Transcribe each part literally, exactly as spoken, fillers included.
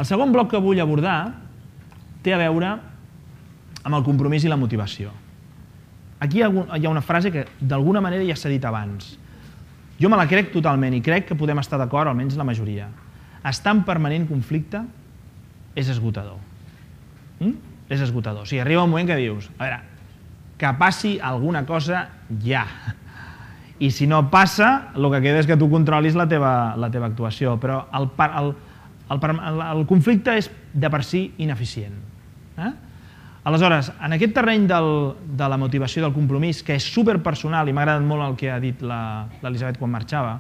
El segon bloc que vull abordar té a veure amb el compromís i la motivació. Aquí hi ha una frase que d'alguna manera ja s'ha dit abans. Jo me la crec totalment i crec que podem estar d'acord, almenys la majoria. Estar en permanent conflicte és esgotador. Mm? És esgotador. O sigui, arriba un moment que dius, a veure, que passi alguna cosa ja. I si no passa, el que queda és que tu controlis la teva, la teva actuació. Però el, el, el, el conflicte és de per si ineficient. Eh? Aleshores, en aquest terreny del, de la motivació del compromís, que és superpersonal, i m'ha agradat molt el que ha dit l'Elisabet quan marxava,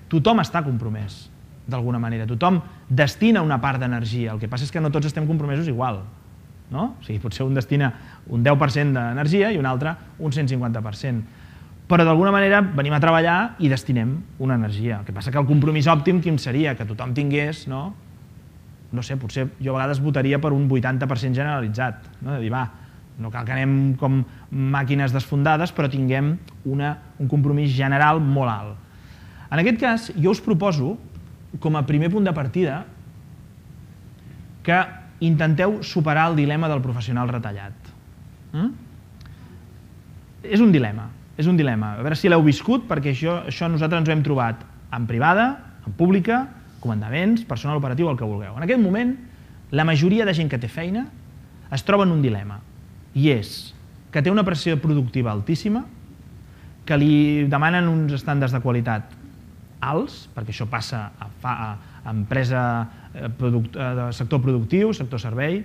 tothom està compromès, d'alguna manera. Tothom destina una part d'energia. El que passa és que no tots estem compromesos igual. No? O sigui, potser un destina un deu per cent d'energia i un altre un cent cinquanta per cent. Però d'alguna manera venim a treballar i destinem una energia. El que passa que el compromís òptim quin seria? Que tothom tingués, no? No sé, potser jo a vegades votaria per un vuitanta per cent generalitzat, no? De dir, va, no cal que anem com màquines desfondades, però tinguem una, un compromís general molt alt. En aquest cas, jo us proposo, com a primer punt de partida, que intenteu superar el dilema del professional retallat. Mm? És un dilema, és un dilema. A veure si l'heu viscut, perquè això, això nosaltres ens ho hem trobat en privada, en pública, comandaments, personal operatiu, el que vulgueu. En aquest moment, la majoria de gent que té feina es troba en un dilema, i és que té una pressió productiva altíssima, que li demanen uns estàndards de qualitat alts, perquè això passa a, a, a empresa eh, product, eh, de sector productiu, sector servei,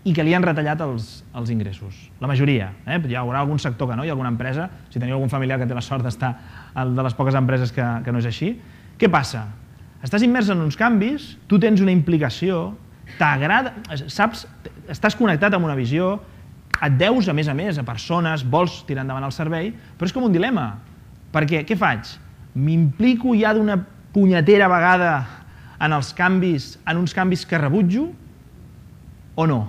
i que li han retallat els, els ingressos. La majoria. Eh? Hi haurà algun sector que no, hi ha alguna empresa, si teniu algun familiar que té la sort d'estar de les poques empreses que, que no és així. Què passa? Estàs immers en uns canvis, tu tens una implicació, t'agrada, saps, estàs connectat amb una visió, et deus a més a més a persones, vols tirar endavant el servei, però és com un dilema. Perquè què faig? M'implico ja d'una punyetera vegada en els canvis, en uns canvis que rebutjo o no?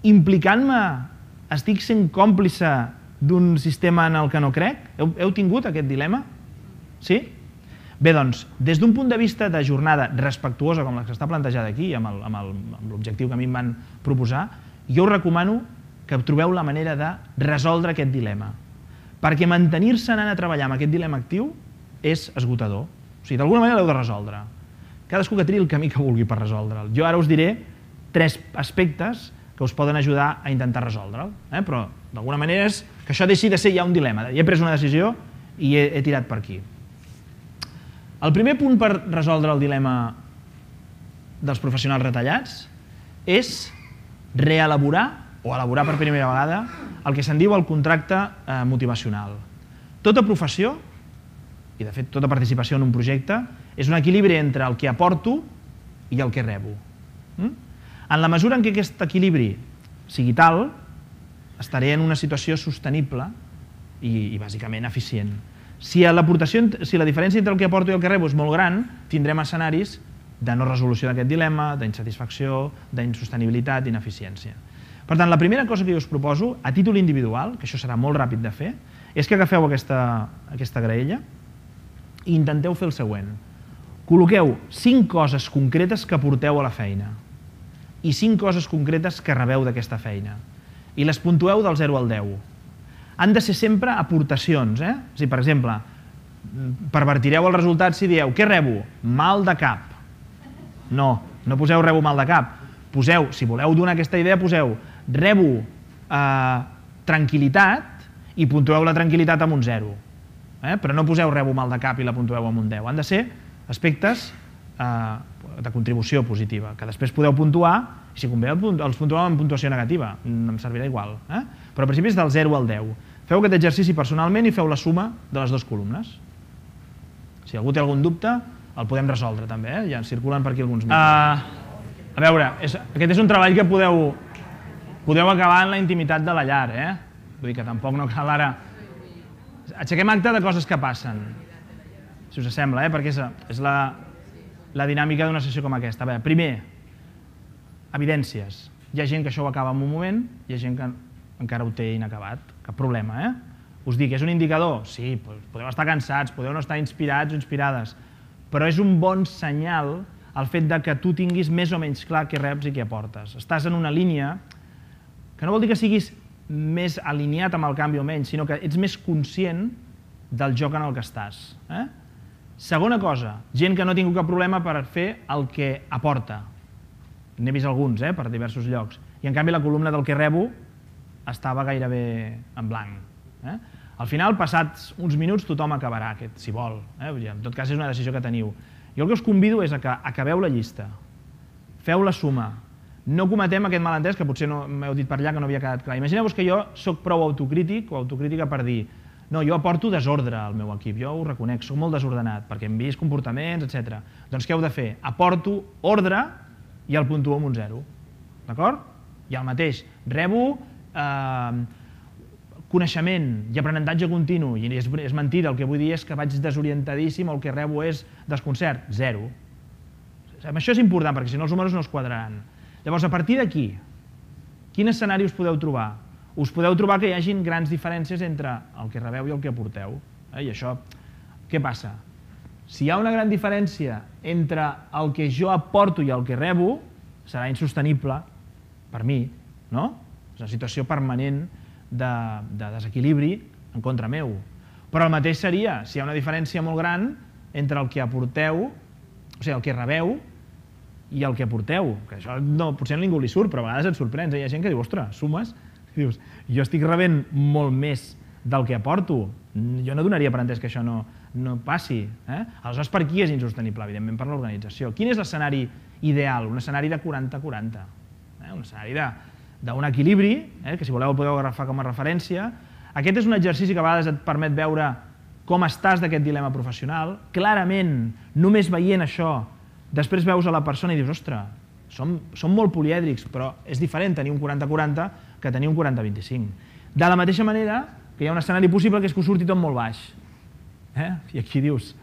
Implicant-me, estic sent còmplice d'un sistema en el que no crec? Heu, heu tingut aquest dilema? Sí? Bé, doncs, des d'un punt de vista de jornada respectuosa, com la que està plantejada aquí, amb l'objectiu que a mi em van proposar, jo us recomano que trobeu la manera de resoldre aquest dilema. Perquè mantenir-se anant a treballar amb aquest dilema actiu és esgotador. O sigui, d'alguna manera l'heu de resoldre. Cadascú que triï el camí que vulgui per resoldre'l. Jo ara us diré tres aspectes que us poden ajudar a intentar resoldre'l. Eh? Però, d'alguna manera, és que això deixi de ser ja un dilema. Ja he pres una decisió i he, he tirat per aquí. El primer punt per resoldre el dilema dels professionals retallats és reelaborar o elaborar per primera vegada el que se'n diu el contracte eh, motivacional. Tota professió, i de fet tota participació en un projecte, és un equilibri entre el que aporto i el que rebo. Mm? En la mesura en què aquest equilibri sigui tal, estaré en una situació sostenible i, i bàsicament eficient. Si l'aportació, si la diferència entre el que aporto i el que rebo és molt gran, tindrem escenaris de no resolució d'aquest dilema, d'insatisfacció, d'insostenibilitat, d'ineficiència. Per tant, la primera cosa que jo us proposo, a títol individual, que això serà molt ràpid de fer, és que agafeu aquesta, aquesta graella i intenteu fer el següent. Col·loqueu cinc coses concretes que porteu a la feina i cinc coses concretes que rebeu d'aquesta feina i les puntueu del zero al deu. Han de ser sempre aportacions. Eh? O sigui, per exemple, pervertireu el resultat si dieu què rebo? Mal de cap. No, no poseu rebo mal de cap. Poseu, si voleu donar aquesta idea, poseu rebo eh, tranquil·litat i puntueu la tranquil·litat amb un zero. Eh? Però no poseu rebo mal de cap i la puntueu amb un deu. Han de ser aspectes eh, de contribució positiva, que després podeu puntuar i si convé els puntueu amb puntuació negativa, em servirà igual. Eh? Però al principi és del zero al deu. Feu aquest exercici personalment i feu la suma de les dues columnes. Si algú té algun dubte, el podem resoldre també, eh? Ja circulen per aquí alguns micros. Uh, a veure, és, aquest és un treball que podeu, podeu acabar en la intimitat de la llar, eh? Vull dir que tampoc no cal ara... Aixequem acte de coses que passen, si us sembla, eh? Perquè és, és la, la dinàmica d'una sessió com aquesta. A veure, primer, evidències. Hi ha gent que això ho acaba en un moment, hi ha gent que encara ho té inacabat. Cap problema, eh? Us dic, és un indicador? Sí, podeu estar cansats, podeu no estar inspirats o inspirades, però és un bon senyal el fet de que tu tinguis més o menys clar què reps i què aportes. Estàs en una línia que no vol dir que siguis més alineat amb el canvi o menys, sinó que ets més conscient del joc en el que estàs. Segona cosa, gent que no ha tingut cap problema per fer el que aporta. N'he vist alguns per diversos llocs. I en canvi la columna del que rebo estava gairebé en blanc. Al final, passats uns minuts, tothom acabarà aquest, si vol. En tot cas, és una decisió que teniu. Jo el que us convido és que acabeu la llista, feu la suma, no cometem aquest malentès que potser m'heu dit per allà que no havia quedat clar. Imagineu-vos que jo soc prou autocrític o autocrítica per dir no, jo aporto desordre al meu equip, jo ho reconec, soc molt desordenat, perquè hem vist comportaments, etcètera. Doncs què heu de fer? Aporto ordre i el puntuo amb un zero. D'acord? I el mateix, rebo coneixement i aprenentatge continu, i és mentida, el que vull dir és que vaig desorientadíssim o el que rebo és desconcert, zero. Això és important, perquè si no els números no es quadraran. Llavors, a partir d'aquí, quin escenari us podeu trobar? Us podeu trobar que hi hagin grans diferències entre el que rebeu i el que aporteu. I això, què passa? Si hi ha una gran diferència entre el que jo aporto i el que rebo, serà insostenible per mi, no? És una situació permanent de desequilibri en contra meu. Però el mateix seria si hi ha una diferència molt gran entre el que aporteu, o sigui, el que rebeu i el que aporteu. Que això potser a ningú li surt, però a vegades et sorprens. Hi ha gent que diu, ostres, sumes, dius, jo estic rebent molt més del que aporto. Jo no donaria per entès que això no passi. Aleshores, per qui és insostenible? Evidentment, per l'organització. Quin és l'escenari ideal? Un escenari de quaranta quaranta. Un escenari d'un equilibri, que si voleu el podeu agafar com a referència. Aquest és un exercici que a vegades et permet veure com estàs d'aquest dilema professional. Clarament, només veient això, després veus a la persona i dius, ostres, som molt polièdrics, però és diferent tenir un quaranta quaranta que tenir un quaranta vint-i-cinc. De la mateixa manera que hi ha un escenari possible que és que us surti tot molt baix. I aquí dius,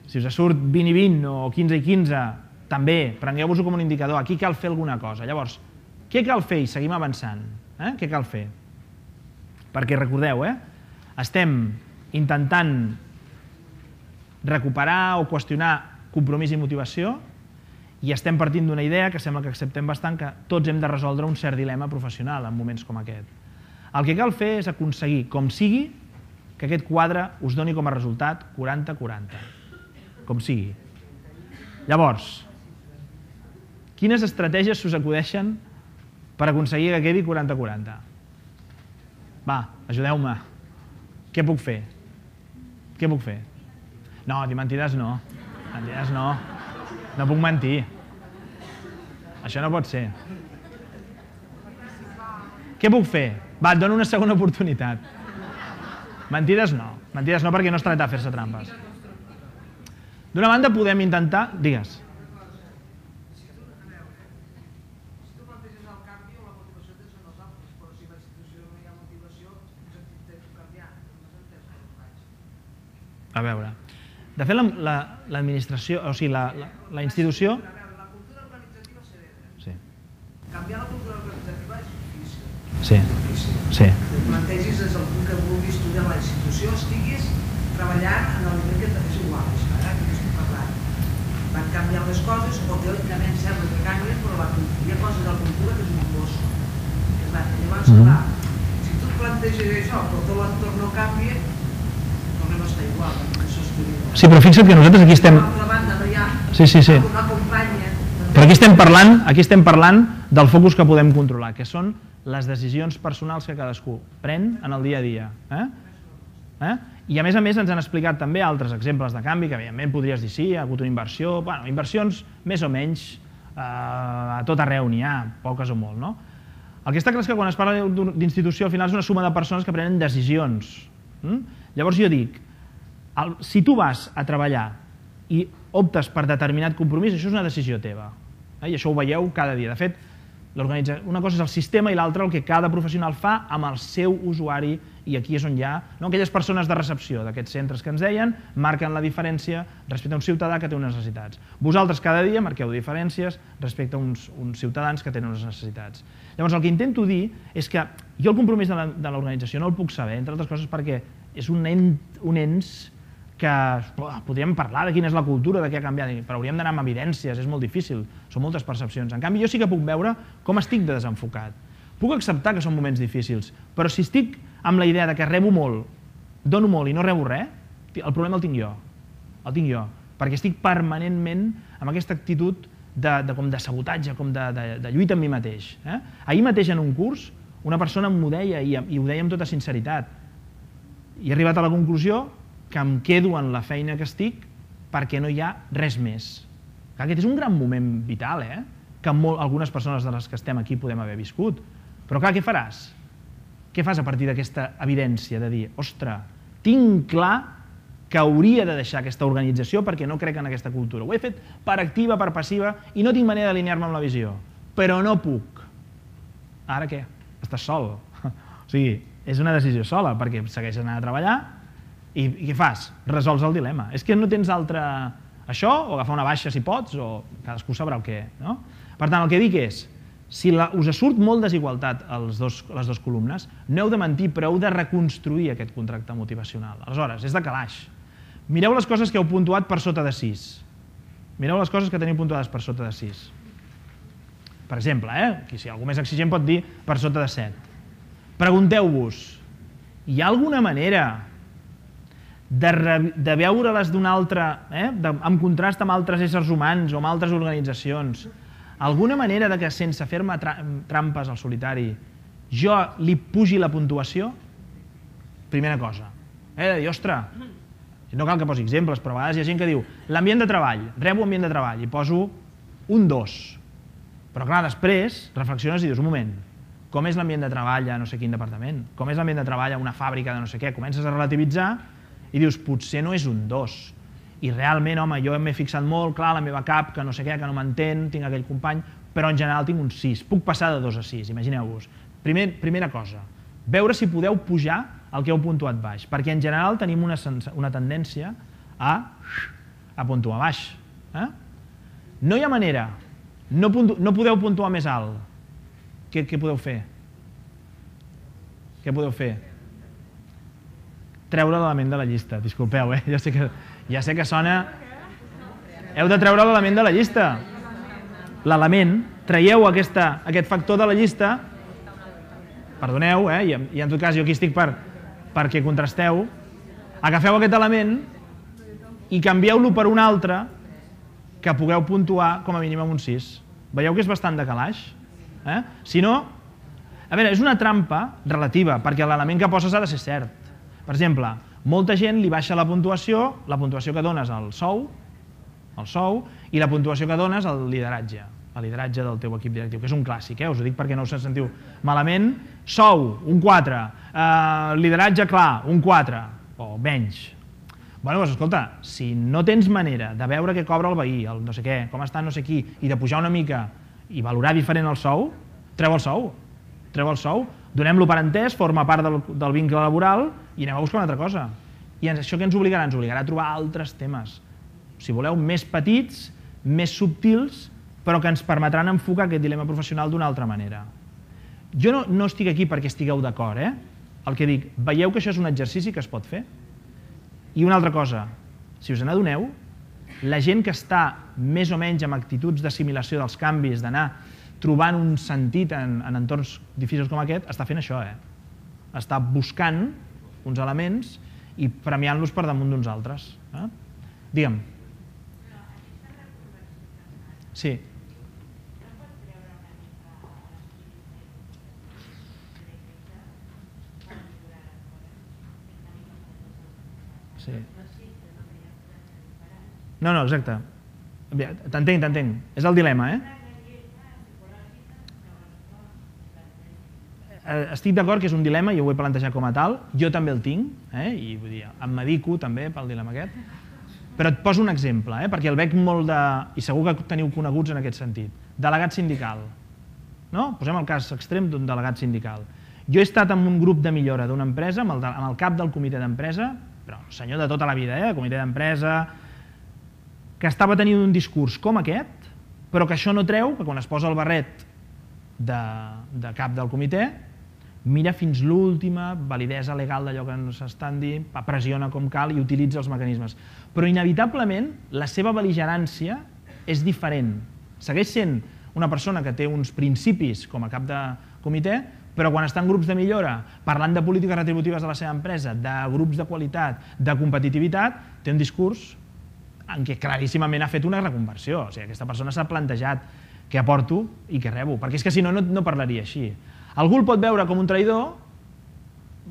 si us surt vint i vint o quinze i quinze, també, prengueu-vos-ho com un indicador, aquí cal fer alguna cosa. Llavors, què cal fer? I seguim avançant. Què cal fer? Perquè recordeu, estem intentant recuperar o qüestionar compromís i motivació i estem partint d'una idea que sembla que acceptem bastant, que tots hem de resoldre un cert dilema professional en moments com aquest. El que cal fer és aconseguir, com sigui, que aquest quadre us doni com a resultat quaranta quaranta. Com sigui. Llavors, quines estratègies s'us acudeixen per aconseguir que quedi quaranta quaranta? Va, ajudeu-me. Què puc fer? Què puc fer? No, dir mentides no. Mentides no. No puc mentir. Això no pot ser. Què puc fer? Va, et dono una segona oportunitat. Mentides no. Mentides no perquè no es tracta de fer-se trampes. D'una banda podem intentar... Digues. A veure, de fet l'administració, o sigui, la institució... La cultura organitzativa s'hereda. Sí. Canviar la cultura organitzativa és difícil. Sí. Sí. Ho plantegis des del punt que vulguis tu de la institució, estiguis treballant en el nivell que és igual, ara que estic parlant. Van canviar les coses, o teòricament sembla que canvien, però hi ha coses de la cultura que és un bosso. Llavors, clar, si tu planteges això, però tot l'entorn no canvia, tornem a estar igual. Sí, però fixa't que nosaltres aquí estem... D'altra banda, no hi ha Sí, sí, sí. una companya... Però aquí estem parlant, aquí estem parlant del focus que podem controlar, que són les decisions personals que cadascú pren en el dia a dia. I a més a més ens han explicat també altres exemples de canvi, que evidentment podries dir sí, hi ha hagut una inversió, bueno, inversions més o menys a tot arreu n'hi ha, poques o molt, no? El que està clar és que quan es parla d'institució al final és una suma de persones que prenen decisions. Llavors jo dic, si tu vas a treballar i optes per determinat compromís, això és una decisió teva. I això ho veieu cada dia. De fet, una cosa és el sistema i l'altra el que cada professional fa amb el seu usuari, i aquí és on hi ha aquelles persones de recepció d'aquests centres que ens deien, marquen la diferència respecte a un ciutadà que té unes necessitats. Vosaltres cada dia marqueu diferències respecte a uns ciutadans que tenen unes necessitats. Llavors el que intento dir és que jo el compromís de l'organització no el puc saber, entre altres coses perquè és un ens que podríem parlar de quina és la cultura, de què ha canviat, però hauríem d'anar amb evidències, és molt difícil, són moltes percepcions. En canvi, jo sí que puc veure com estic de desenfocat. Puc acceptar que són moments difícils, però si estic amb la idea de que rebo molt, dono molt i no rebo res, el problema el tinc jo, el tinc jo, perquè estic permanentment amb aquesta actitud de, de, com de sabotatge, com de, de, de lluita amb mi mateix. Eh? Ahir mateix en un curs, una persona m'ho deia i, i ho deia amb tota sinceritat, i he arribat a la conclusió que em quedo en la feina que estic perquè no hi ha res més. Aquest és un gran moment vital, eh? que molt, algunes persones de les que estem aquí podem haver viscut. Però clar, què faràs? Què fas a partir d'aquesta evidència de dir, ostres, tinc clar que hauria de deixar aquesta organització perquè no crec en aquesta cultura. Ho he fet per activa, per passiva, i no tinc manera d'alinear-me amb la visió. Però no puc. Ara què? Estàs sol. O sigui, és una decisió sola, perquè segueixes anant a treballar i, i què fas? Resols el dilema. És que no tens altre... Això, o agafar una baixa si pots, o cadascú sabrà el què. No? Per tant, el que dic és, si la, us surt molt desigualtat als dos, les dues columnes, no heu de mentir, però heu de reconstruir aquest contracte motivacional. Aleshores, és de calaix. Mireu les coses que heu puntuat per sota de sis. Mireu les coses que teniu puntuades per sota de sis. Per exemple, eh? Aquí, si algú més exigent pot dir per sota de set. Pregunteu-vos, hi ha alguna manera de, de veure-les d'una altra, eh? de, en contrast amb altres éssers humans o amb altres organitzacions, alguna manera de que sense fer-me tra trampes al solitari jo li pugi la puntuació? Primera cosa. He de dir, ostres, no cal que posi exemples, però a vegades hi ha gent que diu l'ambient de treball, rebo ambient de treball i poso un dos. Però clar, després reflexiones i dius, un moment, com és l'ambient de treball a no sé quin departament? Com és l'ambient de treball a una fàbrica de no sé què? Comences a relativitzar i dius, potser no és un dos. I realment, home, jo m'he fixat molt, clar, la meva cap, que no sé què, que no m'entén, tinc aquell company, però en general tinc un sis. Puc passar de dos a sis, imagineu-vos. Primer, primera cosa, veure si podeu pujar el que heu puntuat baix, perquè en general tenim una, una tendència a, a puntuar baix. Eh? No hi ha manera, no, puntu, no podeu puntuar més alt. Què, què podeu fer? Què podeu fer? Treure l'element de la llista, disculpeu, eh? Ja sé que, ja sé que sona... Heu de treure l'element de la llista. L'element, traieu aquesta, aquest factor de la llista, perdoneu, eh? I, i en tot cas jo aquí estic per, perquè contrasteu, agafeu aquest element i canvieu-lo per un altre que pugueu puntuar com a mínim amb un sis. Veieu que és bastant de calaix? Eh? Si no, a veure, és una trampa relativa, perquè l'element que poses ha de ser cert. Per exemple, molta gent li baixa la puntuació, la puntuació que dones al sou, al sou, i la puntuació que dones al lideratge, al lideratge del teu equip directiu, que és un clàssic, eh? Us ho dic perquè no us sentiu malament. Sou, un quatre, eh, lideratge clar, un quatre, o menys. Bueno, doncs escolta, si no tens manera de veure què cobra el veí, el no sé què, com està no sé qui, i de pujar una mica i valorar diferent el sou, treu el sou, treu el sou, donem-lo per entès, forma part del, del vincle laboral i anem a buscar una altra cosa. I això què ens obligarà? Ens obligarà a trobar altres temes, si voleu, més petits, més subtils, però que ens permetran enfocar aquest dilema professional d'una altra manera. Jo no, no estic aquí perquè estigueu d'acord, eh? El que dic, veieu que això és un exercici que es pot fer? I una altra cosa, si us n'adoneu, la gent que està més o menys amb actituds d'assimilació dels canvis, d'anar trobant un sentit en, en entorns difícils com aquest, està fent això, eh? Està buscant uns elements i premiant-los per damunt d'uns altres. Eh? Digue'm. Sí. Sí. No, no, exacte. T'entenc, t'entenc. És el dilema, eh? Estic d'acord que és un dilema i ho he plantejat com a tal. Jo també el tinc, eh? I vull dir, em medico també pel dilema aquest. Però et poso un exemple, eh? Perquè el veig molt de... I segur que teniu coneguts en aquest sentit. Delegat sindical. No? Posem el cas extrem d'un delegat sindical. Jo he estat en un grup de millora d'una empresa, amb el, de, amb el cap del comitè d'empresa, però senyor de tota la vida, eh? Comitè d'empresa, que estava tenint un discurs com aquest, però que això no treu que quan es posa el barret de, de cap del comitè mira fins l'última validesa legal d'allò que s'estan dient, pressiona com cal i utilitza els mecanismes. Però inevitablement la seva bel·ligerància és diferent. Segueix sent una persona que té uns principis com a cap de comitè, però quan està en grups de millora, parlant de polítiques retributives de la seva empresa, de grups de qualitat, de competitivitat, té un discurs en què claríssimament ha fet una reconversió. O sigui, aquesta persona s'ha plantejat què aporto i què rebo, perquè és que si no, no parlaria així. Algú el pot veure com un traïdor,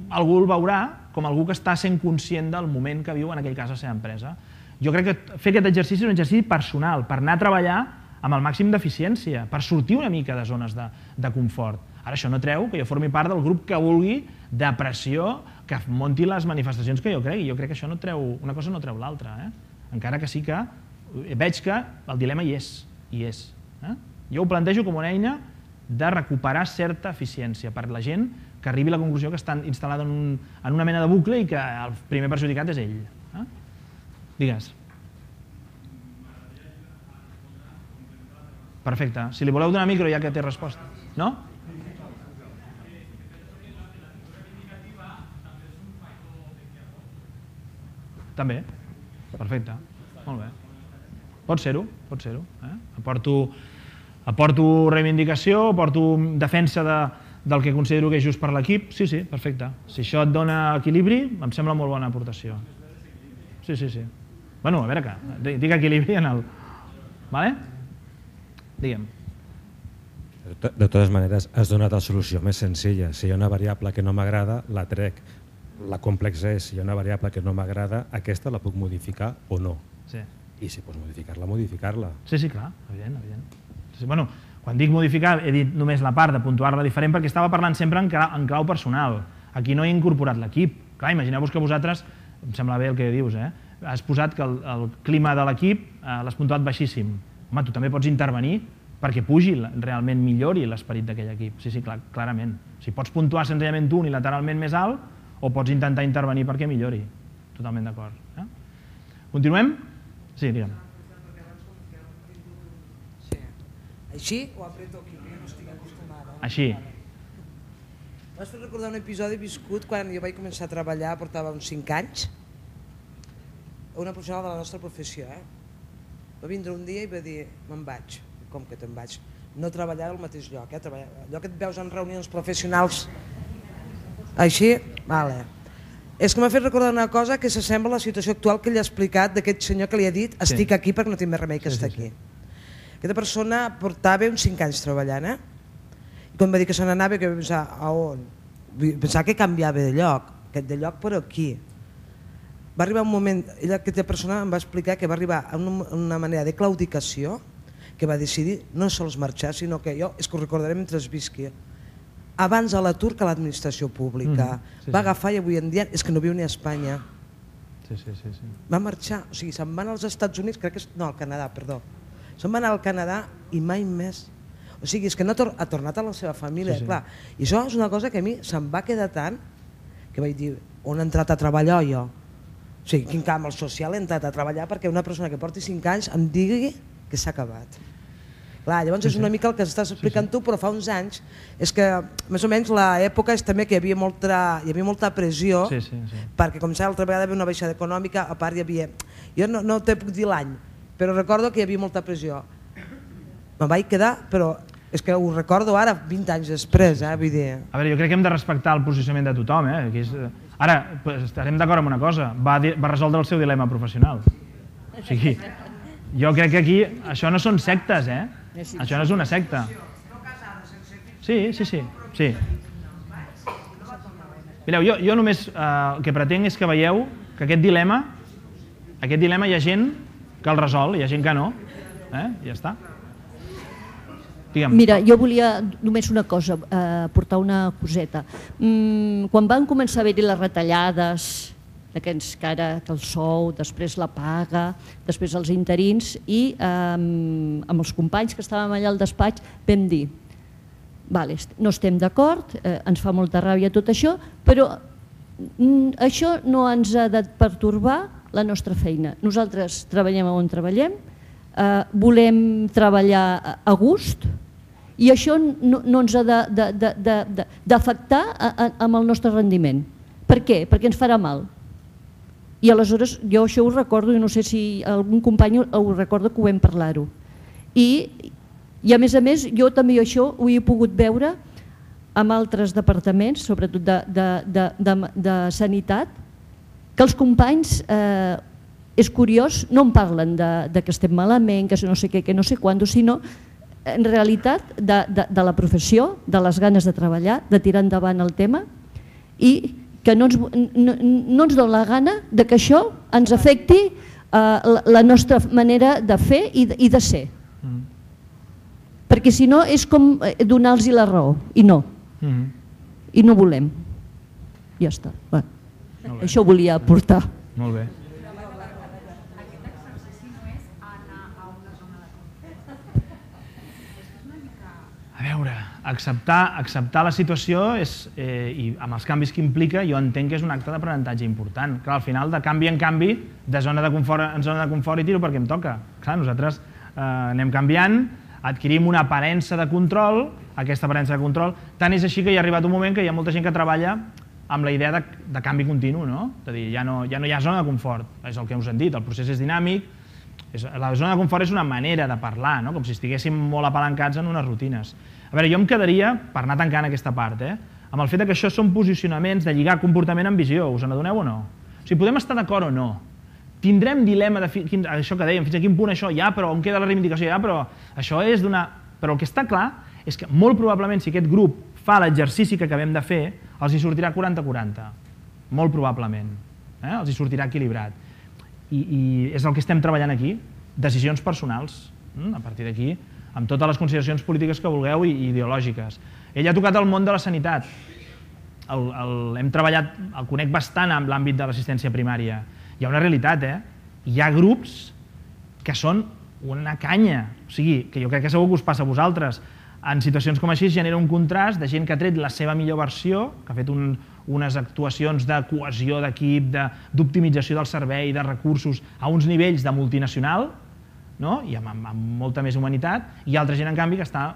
algú el veurà com algú que està sent conscient del moment que viu en aquell cas la seva empresa. Jo crec que fer aquest exercici és un exercici personal, per anar a treballar amb el màxim d'eficiència, per sortir una mica de zones de, de confort. Ara això no treu que jo formi part del grup que vulgui de pressió, que munti les manifestacions que jo cregui. Jo crec que això no treu, una cosa no treu l'altra, eh? Encara que sí que veig que el dilema hi és, hi és. Eh? Jo ho plantejo com una eina de recuperar certa eficiència per la gent que arribi a la conclusió que estan instal·lada en, un, en una mena de bucle i que el primer perjudicat és ell. Eh? Digues. Perfecte. Si li voleu donar micro ja que té resposta. No? També. Perfecte. Molt bé. Pot ser-ho, pot ser-ho. Eh? Aporto... Aporto reivindicació, aporto defensa de, del que considero que és just per l'equip. Sí, sí, perfecte. Si això et dona equilibri, em sembla molt bona aportació. Sí, sí, sí. Bueno, a veure que, dic equilibri en el... Vale? Digue'm. De totes maneres, has donat la solució més senzilla. Si hi ha una variable que no m'agrada, la trec. La complexa és, si hi ha una variable que no m'agrada, aquesta la puc modificar o no. Sí. I si pots modificar-la, modificar-la. Sí, sí, clar, evident, evident. Bueno, quan dic modificar he dit només la part de puntuar-la diferent perquè estava parlant sempre en clau, en clau personal. Aquí no he incorporat l'equip. Clar, imagineu-vos que vosaltres, em sembla bé el que dius, eh? Has posat que el, el clima de l'equip eh, l'has puntuat baixíssim. Home, tu també pots intervenir perquè pugi, realment millori l'esperit d'aquell equip. Sí, sí, clar, clarament. Si pots puntuar senzillament tu unilateralment més alt o pots intentar intervenir perquè millori. Totalment d'acord. Eh? Continuem? Sí, digue'm. Així o apreto aquí, que no estic acostumada? Així. M'has fet recordar un episodi viscut quan jo vaig començar a treballar, portava uns cinc anys, una professional de la nostra professió. Eh? Va vindre un dia i va dir, me'n vaig. Com que te'n vaig? No treballar al mateix lloc, eh? Treballar... allò que et veus en reunions professionals. Així? Vale. És que m'ha fet recordar una cosa que s'assembla a la situació actual que ell ha explicat d'aquest senyor que li ha dit estic sí. aquí perquè no tinc més remei que sí, estar sí, sí. aquí. Aquesta persona portava uns cinc anys treballant, eh? I quan va dir que se n'anava, que va pensar, a on? Pensava que canviava de lloc, que de lloc per aquí. Va arribar un moment, ella, aquesta persona em va explicar que va arribar a una, una manera de claudicació que va decidir no sols marxar, sinó que jo, és que ho recordaré mentre es visqui, abans a l'atur que a l'administració pública. Mm, sí, va agafar i avui en dia és que no viu ni a Espanya. Sí, sí, sí, sí. Va marxar, o sigui, se'n van als Estats Units, crec que és, no, al Canadà, perdó. Se'n va anar al Canadà i mai més. O sigui, és que no ha tornat a la seva família, sí, sí. clar. I això és una cosa que a mi se'm va quedar tant que vaig dir, on he entrat a treballar jo? O sigui, quin camp al social he entrat a treballar perquè una persona que porti cinc anys em digui que s'ha acabat. Clar, llavors sí, sí. és una mica el que estàs explicant sí, sí. tu, però fa uns anys és que més o menys l'època és també que hi havia molta, hi havia molta pressió sí, sí, sí. perquè començava l'altra vegada a haver una baixada econòmica, a part hi havia... Jo no, no te puc dir l'any, però recordo que hi havia molta pressió. Me'n vaig quedar, però és que ho recordo ara, vint anys després, eh? Vull dir... A veure, jo crec que hem de respectar el posicionament de tothom, eh? És... Ara, estarem d'acord amb una cosa, va, va resoldre el seu dilema professional. O sigui, jo crec que aquí, això no són sectes, eh? Això no és una secta. Sí, sí, sí. sí. Mireu, jo, jo només eh, el que pretenc és que veieu que aquest dilema, aquest dilema hi ha gent que el resol, hi ha gent que no. Eh? I ja està. Digue'm. Mira, jo volia només una cosa, eh, portar una coseta. Mm, quan van començar a haver-hi les retallades, d'aquests que ara que el sou, després la paga, després els interins, i eh, amb els companys que estàvem allà al despatx vam dir, vale, no estem d'acord, eh, ens fa molta ràbia tot això, però mm, això no ens ha de pertorbar la nostra feina. Nosaltres treballem on treballem, eh, volem treballar a gust i això no, no ens ha d'afectar amb el nostre rendiment. Per què? Perquè ens farà mal. I aleshores jo això ho recordo i no sé si algun company ho recorda que ho vam parlar-ho. I, i a més a més jo també això ho he pogut veure amb altres departaments, sobretot de, de, de, de, de sanitat, que els companys, eh, és curiós, no en parlen de, de que estem malament, que no sé què, que no sé quant, sinó en realitat de, de, de la professió, de les ganes de treballar, de tirar endavant el tema i que no ens, no, no ens dona la gana de que això ens afecti eh, la, la nostra manera de fer i de, i de ser. Mm. Perquè si no és com donar-los la raó, i no. Mm. I no volem. Ja està. Bueno, això volia aportar. Molt bé. A veure, acceptar, acceptar la situació és, eh, i amb els canvis que implica, jo entenc que és un acte d'aprenentatge important. Clar, al final, de canvi en canvi, de zona de confort en zona de confort i tiro perquè em toca. Clar, nosaltres eh, anem canviant, adquirim una aparença de control, aquesta aparença de control, tant és així que hi ha arribat un moment que hi ha molta gent que treballa amb la idea de, de canvi continu, no? És a dir, ja no, ja no hi ha zona de confort, és el que us hem dit, el procés és dinàmic, és, la zona de confort és una manera de parlar, no? Com si estiguéssim molt apalancats en unes rutines. A veure, jo em quedaria, per anar tancant aquesta part, eh, amb el fet que això són posicionaments de lligar comportament amb visió, us n'adoneu o no? O sigui, podem estar d'acord o no. Tindrem dilema de quin, això que dèiem, fins a quin punt això, ja, però on queda la reivindicació, ja, però això és d'una... Però el que està clar és que molt probablement si aquest grup fa l'exercici que acabem de fer, els hi sortirà quaranta quaranta, molt probablement, eh? Els hi sortirà equilibrat. I, I és el que estem treballant aquí, decisions personals, a partir d'aquí, amb totes les consideracions polítiques que vulgueu i ideològiques. Ell ha tocat el món de la sanitat, el, el, hem treballat, el conec bastant amb l'àmbit de l'assistència primària. Hi ha una realitat, eh? Hi ha grups que són una canya, o sigui, que jo crec que segur que us passa a vosaltres. En situacions com així genera un contrast de gent que ha tret la seva millor versió, que ha fet un, unes actuacions de cohesió d'equip, d'optimització del servei, de recursos, a uns nivells de multinacional, no? I amb, amb, amb molta més humanitat, i altra gent, en canvi, que està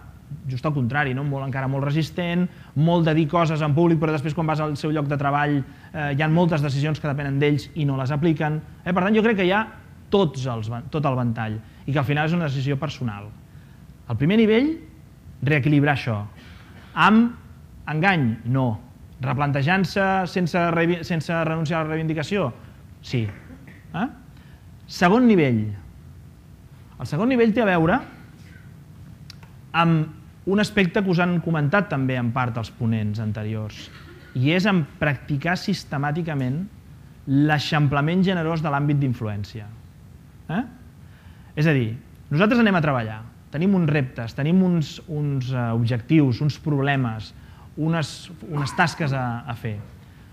just al contrari, no? Molt, encara molt resistent, molt de dir coses en públic, però després quan vas al seu lloc de treball eh, hi ha moltes decisions que depenen d'ells i no les apliquen. Eh? Per tant, jo crec que hi ha tots els, tot el ventall i que al final és una decisió personal. Al primer nivell, reequilibrar això. Amb engany? No. Replantejant-se sense, sense renunciar a la reivindicació? Sí. Eh? Segon nivell. El segon nivell té a veure amb un aspecte que us han comentat també en part els ponents anteriors, i és en practicar sistemàticament l'eixamplament generós de l'àmbit d'influència. Eh? És a dir, nosaltres anem a treballar, tenim uns reptes, tenim uns, uns uh, objectius, uns problemes, unes, unes tasques a, a fer.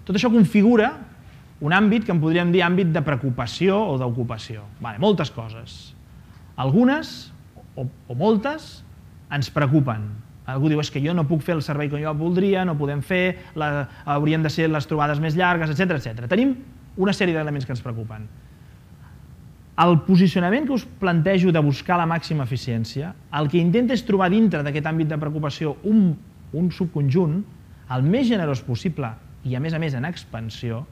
Tot això configura un àmbit que en podríem dir àmbit de preocupació o d'ocupació. Vale, moltes coses. Algunes, o, o moltes, ens preocupen. Algú diu, és que jo no puc fer el servei que jo voldria, no podem fer, la, haurien de ser les trobades més llargues, etcètera, etcètera. Tenim una sèrie d'elements que ens preocupen. El posicionament que us plantejo de buscar la màxima eficiència, el que intenta és trobar dintre d'aquest àmbit de preocupació un, un subconjunt el més generós possible i a més a més en expansió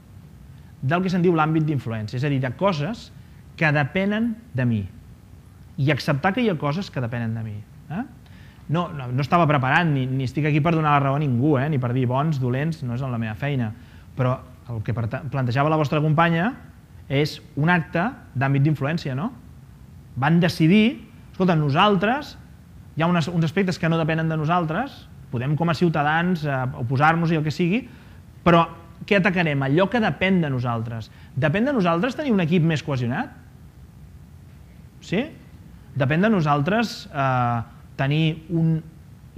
del que se'n diu l'àmbit d'influència, és a dir, de coses que depenen de mi i acceptar que hi ha coses que depenen de mi. Eh? No, no, no estava preparat ni, ni estic aquí per donar la raó a ningú, eh? Ni per dir bons, dolents, no és la meva feina, però el que plantejava la vostra companya és un acte d'àmbit d'influència, no? Van decidir, escolta, nosaltres, hi ha unes, uns aspectes que no depenen de nosaltres, podem com a ciutadans eh, oposar-nos i el que sigui, però què atacarem? Allò que depèn de nosaltres. Depèn de nosaltres tenir un equip més cohesionat? Sí? Depèn de nosaltres eh, tenir un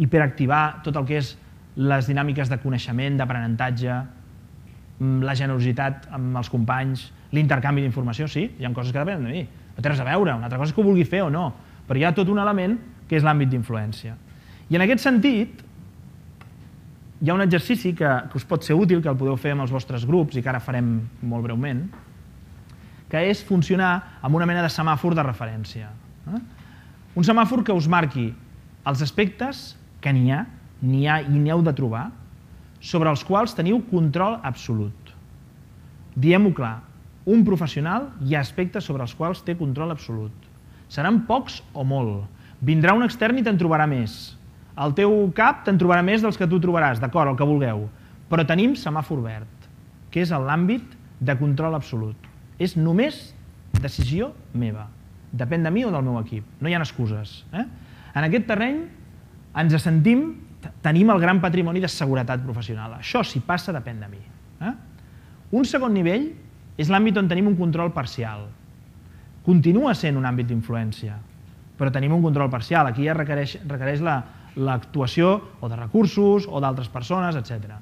hiperactivar tot el que és les dinàmiques de coneixement, d'aprenentatge, la generositat amb els companys, l'intercanvi d'informació, sí, hi ha coses que depenen de mi, no té res a veure, una altra cosa és que ho vulgui fer o no, però hi ha tot un element que és l'àmbit d'influència. I en aquest sentit, hi ha un exercici que, que us pot ser útil, que el podeu fer amb els vostres grups i que ara farem molt breument, que és funcionar amb una mena de semàfor de referència. Eh? Un semàfor que us marqui els aspectes que n'hi ha, n'hi ha i n'heu de trobar, sobre els quals teniu control absolut. Diem-ho clar, un professional hi ha aspectes sobre els quals té control absolut. Seran pocs o molt. Vindrà un extern i te'n trobarà més. Al teu cap te'n trobarà més dels que tu trobaràs, d'acord, el que vulgueu. Però tenim semàfor verd, que és l'àmbit de control absolut. És només decisió meva. Depèn de mi o del meu equip. No hi ha excuses. Eh? En aquest terreny ens sentim, tenim el gran patrimoni de seguretat professional. Això, si passa, depèn de mi. Eh? Un segon nivell és l'àmbit on tenim un control parcial. Continua sent un àmbit d'influència, però tenim un control parcial. Aquí ja requereix, requereix l'actuació o de recursos o d'altres persones, etcètera.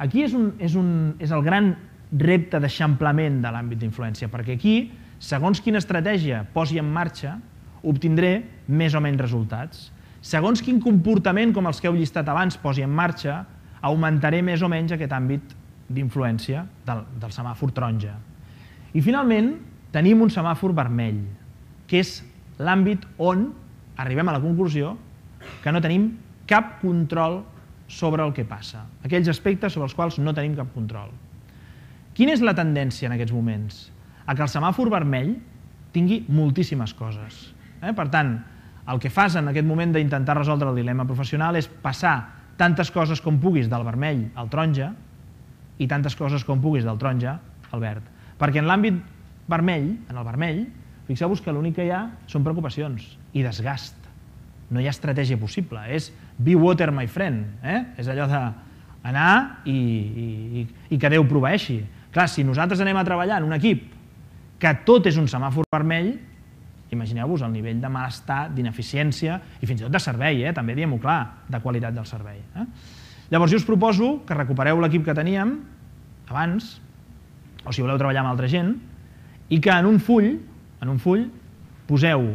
Aquí és, un, és, un, és el gran repte d'eixamplament de l'àmbit d'influència, perquè aquí, segons quina estratègia posi en marxa, obtindré més o menys resultats. Segons quin comportament, com els que heu llistat abans, posi en marxa, augmentaré més o menys aquest àmbit d'influència del, del semàfor taronja. I finalment, tenim un semàfor vermell, que és l'àmbit on arribem a la conclusió que no tenim cap control sobre el que passa, aquells aspectes sobre els quals no tenim cap control. Quina és la tendència en aquests moments? A que el semàfor vermell tingui moltíssimes coses. Eh? Per tant, el que fas en aquest moment d'intentar resoldre el dilema professional és passar tantes coses com puguis del vermell al taronja i tantes coses com puguis del taronja al verd. Perquè en l'àmbit vermell, en el vermell, fixeu-vos que l'únic que hi ha són preocupacions i desgast. No hi ha estratègia possible, és be water my friend, eh? És allò d'anar i, i, i que Déu proveeixi. Clar, si nosaltres anem a treballar en un equip que tot és un semàfor vermell, imagineu-vos el nivell de malestar, d'ineficiència i fins i tot de servei, eh? També diem-ho clar, de qualitat del servei. Eh? Llavors jo us proposo que recupereu l'equip que teníem abans, o si voleu treballar amb altra gent, i que en un full, en un full poseu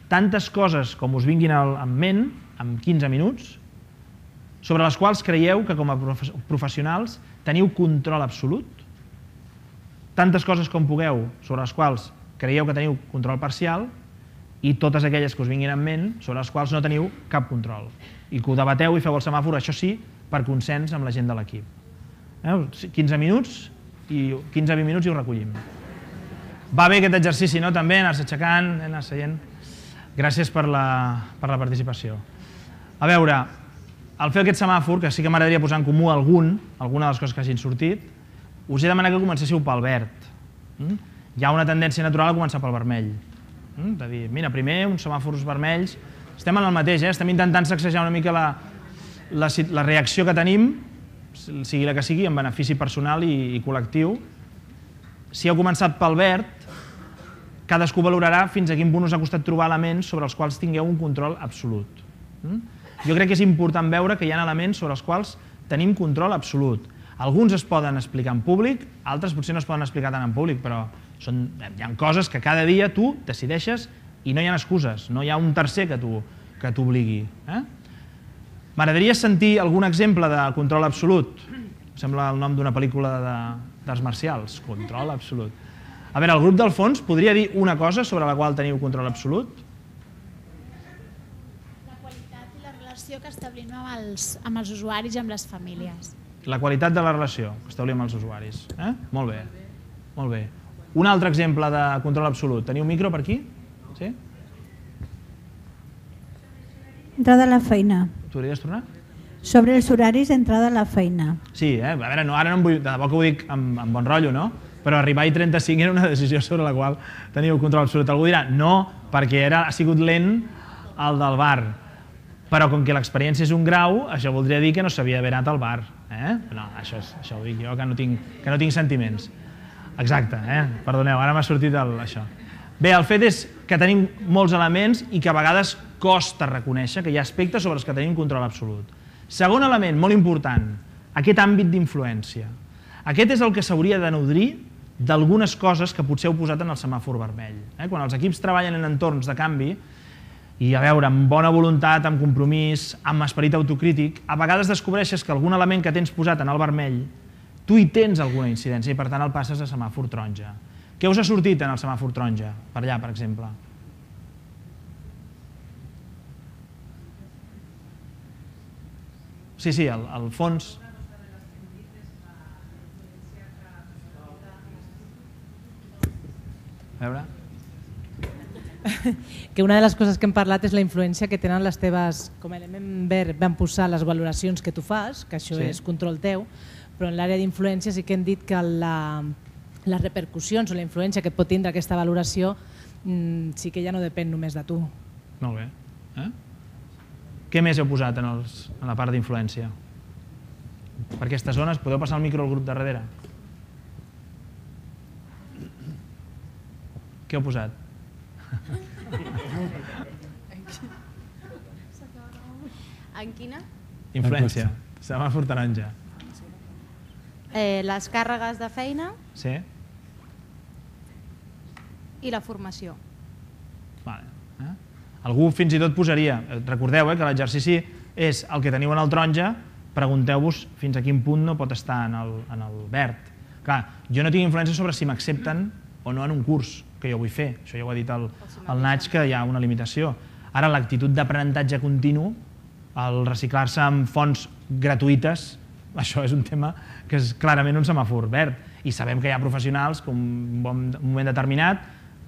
tantes coses com us vinguin en ment, en quinze minuts, sobre les quals creieu que com a professionals teniu control absolut, tantes coses com pugueu sobre les quals creieu que teniu control parcial i totes aquelles que us vinguin en ment sobre les quals no teniu cap control. I que ho debateu i feu el semàfor, això sí, per consens amb la gent de l'equip. quinze minuts i quinze a vint minuts i ho recollim. Va bé aquest exercici, no? També anar-se aixecant, anar seient. Gràcies per la, per la participació. A veure, al fer aquest semàfor, que sí que m'agradaria posar en comú algun, alguna de les coses que hagin sortit, us he demanat que comencéssiu pel verd. Hi ha una tendència natural a començar pel vermell. De dir, mira, primer uns semàfors vermells, estem en el mateix, eh? Estem intentant sacsejar una mica la, la, la reacció que tenim, sigui la que sigui, en benefici personal i, i col·lectiu. Si heu començat pel verd, cadascú valorarà fins a quin punt us ha costat trobar elements sobre els quals tingueu un control absolut. Jo crec que és important veure que hi ha elements sobre els quals tenim control absolut. Alguns es poden explicar en públic, altres potser no es poden explicar tant en públic, però són, hi ha coses que cada dia tu decideixes i no hi ha excuses, no hi ha un tercer que t'obligui. Eh? M'agradaria sentir algun exemple de control absolut. Sembla el nom d'una pel·lícula d'arts marcials, control absolut. A veure, el grup del fons podria dir una cosa sobre la qual teniu control absolut? La qualitat i la relació que establim amb els, amb els usuaris i amb les famílies. La qualitat de la relació que establim amb els usuaris. Eh? Molt bé, molt bé. Un altre exemple de control absolut. Teniu micro per aquí? Sí? Entrada a la feina. Podries tornar? Sobre els horaris d'entrada a la feina. Sí, eh? A veure, no, ara no em vull, de debò que ho dic amb, amb bon rotllo, no? Però arribar a trenta-cinc era una decisió sobre la qual teniu control absolut. Algú dirà, no, perquè era, ha sigut lent el del bar. Però com que l'experiència és un grau, això voldria dir que no s'havia d'haver anat al bar. Eh? No, això, és, això ho dic jo, que no tinc, que no tinc sentiments. Exacte, eh? Perdoneu, ara m'ha sortit el, això. Bé, el fet és que tenim molts elements i que a vegades costa reconèixer que hi ha aspectes sobre els que tenim control absolut. Segon element, molt important, aquest àmbit d'influència. Aquest és el que s'hauria de nodrir d'algunes coses que potser heu posat en el semàfor vermell. Eh? Quan els equips treballen en entorns de canvi, i a veure, amb bona voluntat, amb compromís, amb esperit autocrític, a vegades descobreixes que algun element que tens posat en el vermell, tu hi tens alguna incidència i per tant el passes a semàfor taronja. Què us ha sortit en el semàfor taronja? Per allà, per exemple. Sí, sí, al fons... A veure... Que una de les coses que hem parlat és la influència que tenen les teves, com a element verd vam posar les valoracions que tu fas, que això és control teu, però en l'àrea d'influència sí que hem dit que les repercussions o la influència que pot tindre aquesta valoració sí que ja no depèn només de tu. Molt bé. Què més heu posat en la part d'influència? Per aquestes zones, podeu passar el micro al grup de darrere? Què heu posat? En quina? Influència, semàfor taronja. Les càrregues de feina i la formació. Algú fins i tot posaria, recordeu que l'exercici és el que teniu en el taronja, pregunteu-vos fins a quin punt no pot estar en el verd. Clar, jo no tinc influència sobre si m'accepten o no en un curs que jo vull fer. Això ja ho ha dit el Naig, que hi ha una limitació. Ara, l'actitud d'aprenentatge continu, el reciclar-se amb fonts gratuïtes, això és un tema que és clarament un semàfor verd. I sabem que hi ha professionals que en un moment determinat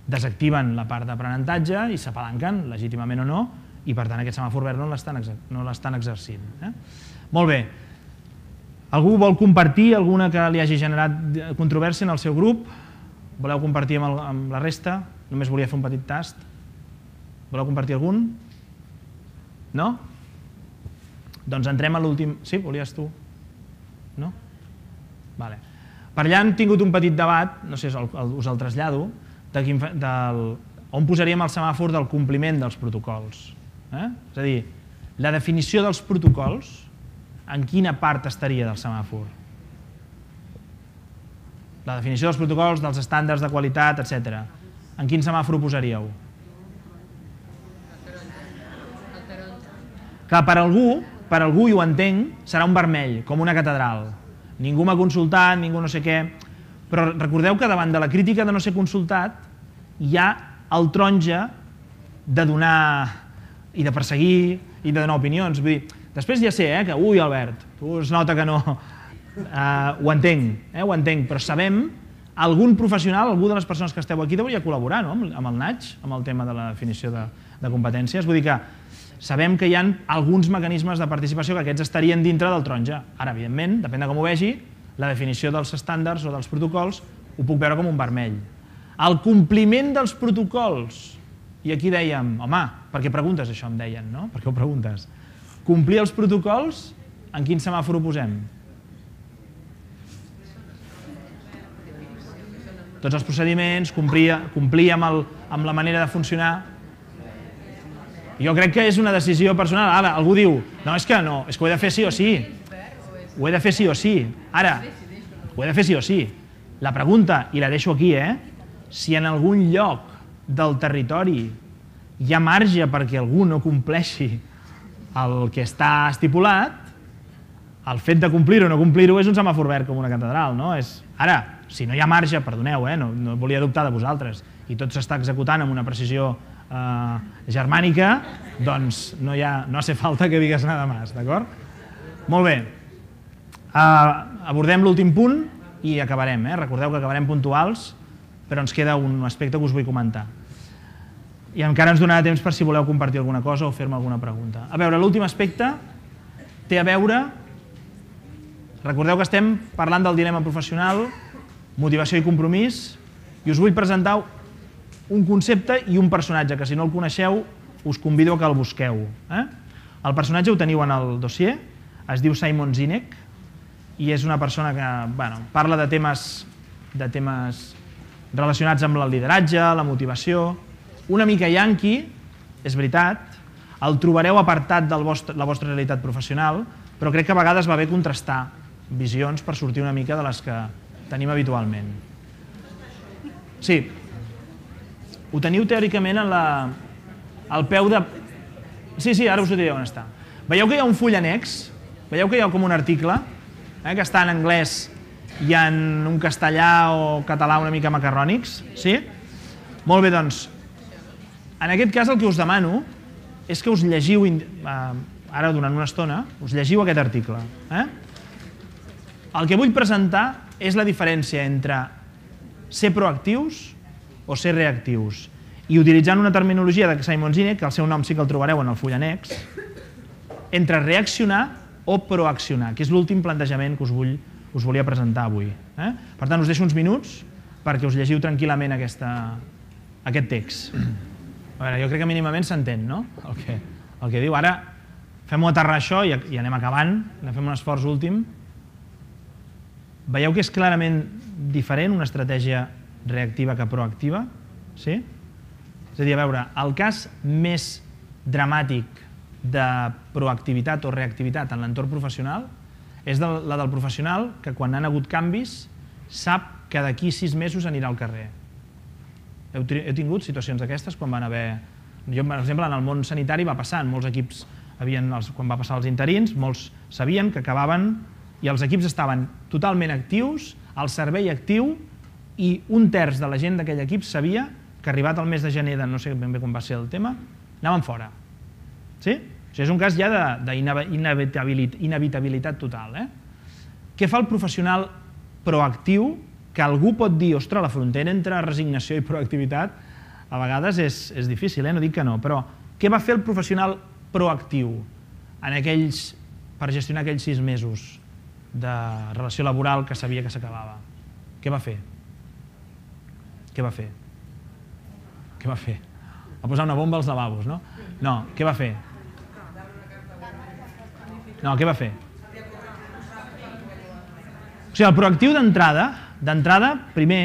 desactiven la part d'aprenentatge i s'apalanquen, legítimament o no, i per tant aquest semàfor verd no l'estan exercint. Molt bé. Algú vol compartir alguna que li hagi generat controvèrsia en el seu grup? Voleu compartir amb la resta? Només volia fer un petit tast. Voleu compartir algun? No? Doncs entrem a l'últim... Sí, volies tu? No? Vale. Per allà hem tingut un petit debat, no sé, us el trasllado, on posaríem el semàfor del compliment dels protocols. És a dir, la definició dels protocols, en quina part estaria del semàfor? La definició dels protocols, dels estàndards de qualitat, etcètera. En quin semàfor ho posaríeu? Clar, per algú, per algú, i ho entenc, serà un vermell, com una catedral. Ningú m'ha consultat, ningú no sé què, però recordeu que davant de la crítica de no ser consultat hi ha el taronja de donar i de perseguir i de donar opinions. Vull dir, després ja sé que, ui, Albert, tu es nota que no... Ho entenc, ho entenc, però sabem, algun professional, algú de les persones que esteu aquí hauria de col·laborar amb el Naig, amb el tema de la definició de competències. Vull dir que sabem que hi ha alguns mecanismes de participació que aquests estarien dintre del taronja. Ara, evidentment, depèn de com ho vegi, la definició dels estàndards o dels protocols ho puc veure com un vermell. El compliment dels protocols, i aquí dèiem, home, per què preguntes això, em deien, no? Per què ho preguntes? Complir els protocols, en quin semàfor ho posem? Tots els procediments, complir amb la manera de funcionar. Jo crec que és una decisió personal. Ara, algú diu, no, és que no, és que ho he de fer sí o sí. Ho he de fer sí o sí. Ara, ho he de fer sí o sí. La pregunta, i la deixo aquí, eh? Si en algun lloc del territori hi ha marge perquè algú no compleixi el que està estipulat, el fet de complir-ho o no complir-ho és un semàfor verd com una catedral, no? Ara, si no hi ha marge, perdoneu, no volia dubtar de vosaltres, i tot s'està executant amb una precisió germànica, doncs no hace falta que digues nada más, d'acord? Molt bé. Abordem l'últim punt i acabarem. Recordeu que acabarem puntuals, però ens queda un aspecte que us vull comentar. I encara ens donarà temps per si voleu compartir alguna cosa o fer-me alguna pregunta. A veure, l'últim aspecte té a veure... Recordeu que estem parlant del dilema professional, motivació i compromís, i us vull presentar un concepte i un personatge, que si no el coneixeu us convido a que el busqueu. El personatge ho teniu en el dossier, es diu Simon Sinek, i és una persona que parla de temes relacionats amb el lideratge, la motivació, una mica yanqui, és veritat, el trobareu apartat de la vostra realitat professional, però crec que a vegades va bé contrastar visions per sortir una mica de les que tenim habitualment. Sí, ho teniu teòricament al peu de... Sí, sí, ara us ho diré on està. Veieu que hi ha un full annex? Veieu que hi ha com un article que està en anglès i en un castellà o català una mica macarrònics? Sí? Molt bé, doncs, en aquest cas el que us demano és que us llegiu ara durant una estona, us llegiu aquest article. El que vull presentar és la diferència entre ser proactius o ser reactius. I utilitzant una terminologia de Simon Sinek, que el seu nom sí que el trobareu en el full annex, entre reaccionar o proaccionar, que és l'últim plantejament que us, vull, us volia presentar avui. Eh? Per tant, us deixo uns minuts perquè us llegiu tranquil·lament aquesta, aquest text. A veure, jo crec que mínimament s'entén, no? El que, el que diu. Ara fem-ho aterrar això i, i anem acabant, anem fem un esforç últim. Veieu que és clarament diferent una estratègia reactiva que proactiva? Sí? És a dir, a veure, el cas més dramàtic de proactivitat o reactivitat en l'entorn professional és la del professional que quan han hagut canvis sap que d'aquí sis mesos anirà al carrer. Heu, heu tingut situacions d'aquestes quan van haver... Jo, per exemple, en el món sanitari va passar, en molts equips, havien, els, quan va passar els interins, molts sabien que acabaven i els equips estaven totalment actius, el servei actiu, i un terç de la gent d'aquell equip sabia que arribat el mes de gener, de no sé ben bé com va ser el tema, anaven fora. Sí? O sigui, és un cas ja d'inevitabilitat total. Eh? Què fa el professional proactiu? Que algú pot dir, ostres, la frontera entre resignació i proactivitat a vegades és, és difícil, eh? No dic que no, però què va fer el professional proactiu en aquells, per gestionar aquells sis mesos de relació laboral que sabia que s'acabava? Què va fer? Què va fer? Què va fer? Va posar una bomba als lavabos, no? No, què va fer? No, què va fer? O sigui, el proactiu d'entrada, d'entrada, primer,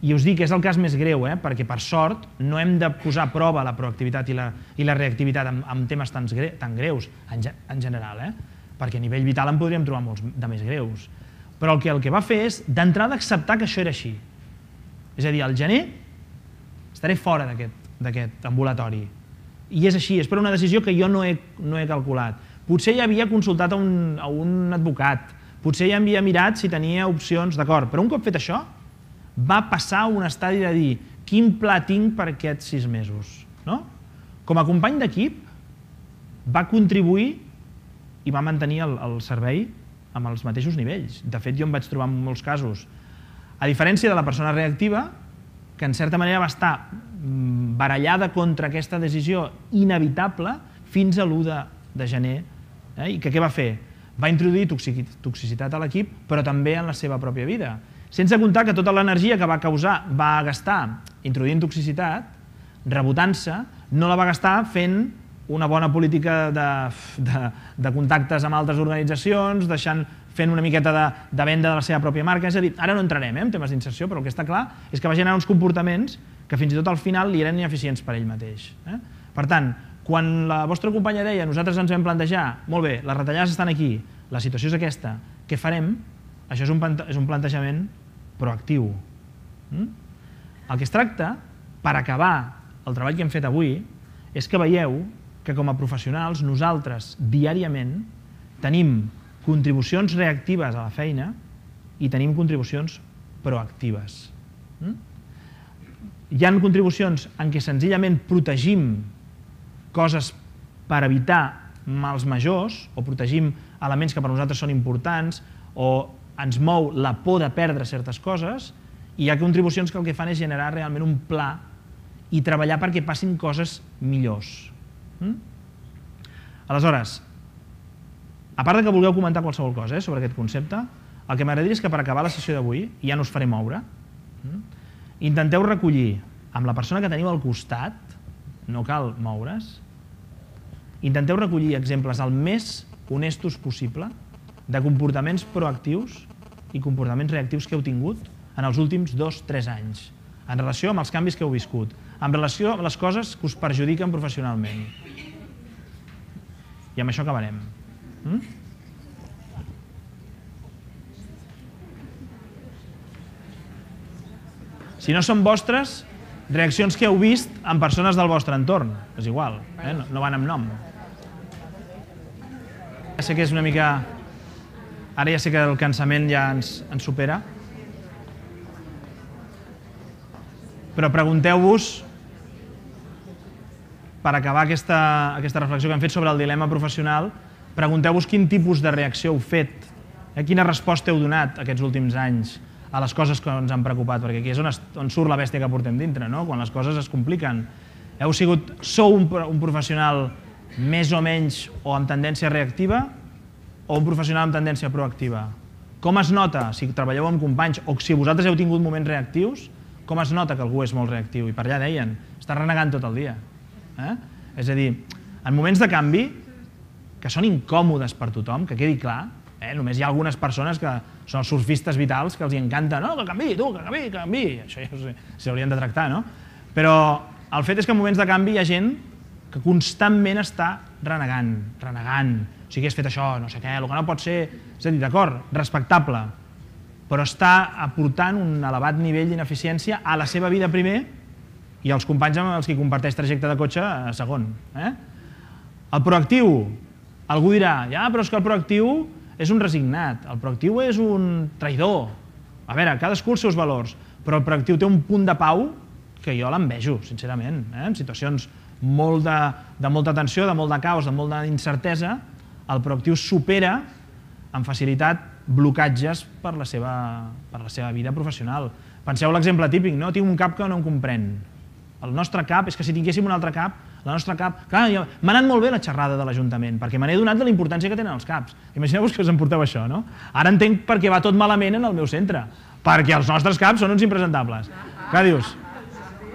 i us dic que és el cas més greu, eh, perquè per sort no hem de posar a prova la proactivitat i la, i la reactivitat en, en temes tan, gre, tan greus, en, en general, eh, perquè a nivell vital en podríem trobar molts de més greus. Però el que, el que va fer és, d'entrada, acceptar que això era així. És a dir, al gener estaré fora d'aquest ambulatori. I és així, és per una decisió que jo no he, no he calculat. Potser ja havia consultat a un, a un advocat, potser ja havia mirat si tenia opcions, d'acord, però un cop fet això, va passar un estadi de dir quin pla tinc per aquests sis mesos. No? Com a company d'equip, va contribuir i va mantenir el, el servei amb els mateixos nivells. De fet, jo em vaig trobar en molts casos, a diferència de la persona reactiva, que en certa manera va estar barallada contra aquesta decisió inevitable fins a l'u de gener. Eh? I que què va fer? Va introduir toxicitat a l'equip, però també en la seva pròpia vida. Sense comptar que tota l'energia que va causar, va gastar introduint toxicitat, rebotant-se, no la va gastar fent una bona política de, de, de contactes amb altres organitzacions, deixant, fent una miqueta de, de venda de la seva pròpia marca. És a dir, ara no entrarem eh, en temes d'inserció, però el que està clar és que va generar uns comportaments que fins i tot al final li eren ineficients per ell mateix. Eh? Per tant, quan la vostra companya deia nosaltres ens vam plantejar, molt bé, les retallades estan aquí, la situació és aquesta, què farem? Això és un, és un plantejament proactiu. Mm? El que es tracta, per acabar el treball que hem fet avui, és que veieu que com a professionals nosaltres diàriament tenim contribucions reactives a la feina i tenim contribucions proactives. Mm? Hi ha contribucions en què senzillament protegim coses per evitar mals majors o protegim elements que per nosaltres són importants o ens mou la por de perdre certes coses, i hi ha contribucions que el que fan és generar realment un pla i treballar perquè passin coses millors. Mm? Aleshores, a part de que vulgueu comentar qualsevol cosa eh, sobre aquest concepte, el que m'agradaria és que per acabar la sessió d'avui, ja no us faré moure, mm? intenteu recollir amb la persona que teniu al costat, no cal moure's, intenteu recollir exemples el més honestos possible de comportaments proactius i comportaments reactius que heu tingut en els últims dos o tres anys, en relació amb els canvis que heu viscut, en relació amb les coses que us perjudiquen professionalment. I amb això acabarem. Mm? Si no són vostres, reaccions que heu vist en persones del vostre entorn. És igual, eh? no, no van amb nom. Ja sé que és una mica... Ara ja sé que el cansament ja ens, ens supera. Però pregunteu-vos, per acabar aquesta, aquesta reflexió que hem fet sobre el dilema professional, pregunteu-vos quin tipus de reacció heu fet, eh? Quina resposta heu donat aquests últims anys a les coses que ens han preocupat, perquè aquí és on, es, on surt la bèstia que portem dintre, no? Quan les coses es compliquen. Heu sigut, sou un, un professional més o menys o amb tendència reactiva o un professional amb tendència proactiva? Com es nota, si treballeu amb companys o si vosaltres heu tingut moments reactius, com es nota que algú és molt reactiu? I per allà deien, està renegant tot el dia. Eh? És a dir, en moments de canvi, que són incòmodes per tothom, que quedi clar, eh? Només hi ha algunes persones que són els surfistes vitals que els encanta, no, que canvi, tu, que canvi, que canvi, això ja s'haurien de tractar, no? Però el fet és que en moments de canvi hi ha gent que constantment està renegant, renegant, o sigui, has fet això, no sé què, el que no pot ser, és a dir, d'acord, respectable, però està aportant un elevat nivell d'ineficiència a la seva vida primer i als companys amb els que comparteix trajecte de cotxe a segon. Eh? El proactiu, algú dirà, ja, però és que el proactiu és un resignat, el proactiu és un traïdor. A veure, cadascú els seus valors, però el proactiu té un punt de pau que jo l'envejo, sincerament. Eh? En situacions molt de, de molta tensió, de molt de caos, de molta incertesa, el proactiu supera amb facilitat blocatges per la seva, per la seva vida professional. Penseu l'exemple típic, no? Tinc un cap que no em comprèn. El nostre cap, és que si tinguéssim un altre cap, la nostra cap... Clar, m'ha anat molt bé la xerrada de l'Ajuntament, perquè me n'he donat de la importància que tenen els caps. Imagineu-vos que us emporteu això, no? Ara entenc per què va tot malament en el meu centre, perquè els nostres caps són uns impresentables. Clar, dius,